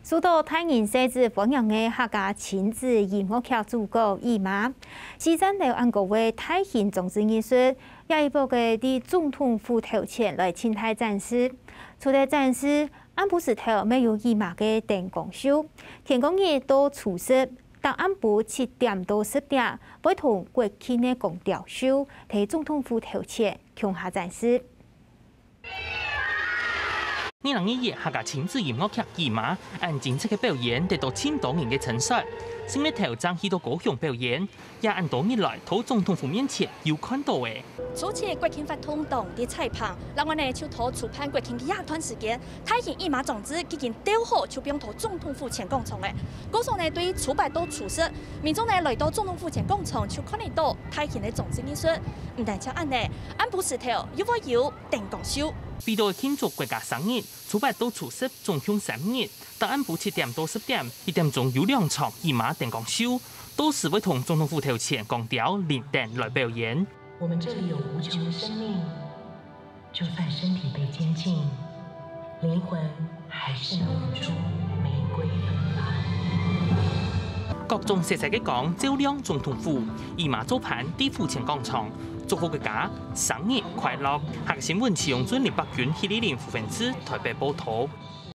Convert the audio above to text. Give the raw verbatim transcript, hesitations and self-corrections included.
受到大人細子歡迎个客家親子音樂劇主角姨媽，四層樓恁高个大型裝置藝術，這一駁仔在總統府頭前來靜態展示。除了展示，暗晡時頭乜有姨媽个燈光秀，天光日到初十，逐暗晡七點到十點，會同國慶个光雕秀，在總統府頭前共下展示。 二零二一客家親子音樂劇《姨媽》，恁精彩个表演得到盡多人个稱讚。新日頭正去到高雄表演，也恁多日來到總統府面前有看到个。初七國慶活動當日採訪，另外呢就到初八國慶个這段時間，大型姨媽裝置已經雕好，就放到總統府前廣場了。故所呢對初八到初十，民眾呢來到總統府前廣場就看得到大型个裝置藝術。毋單淨恁呢，暗晡時頭又會有 燈光秀。為著慶祝國家生日，初八到初十總共三日，逐暗晡七點到十點，一點鐘有兩場姨媽燈光秀，到時會同總統府頭前光雕、靈燈來表演。我們這裡有無窮的生命，就算身體被監禁，靈魂還是能吐出玫瑰芬芳。各種色彩个光照亮總統府，姨媽做伴在府前廣場， 祝福大家生日快樂！客家新聞徐永俊、林伯君、許麗玲、胡文志台北報導。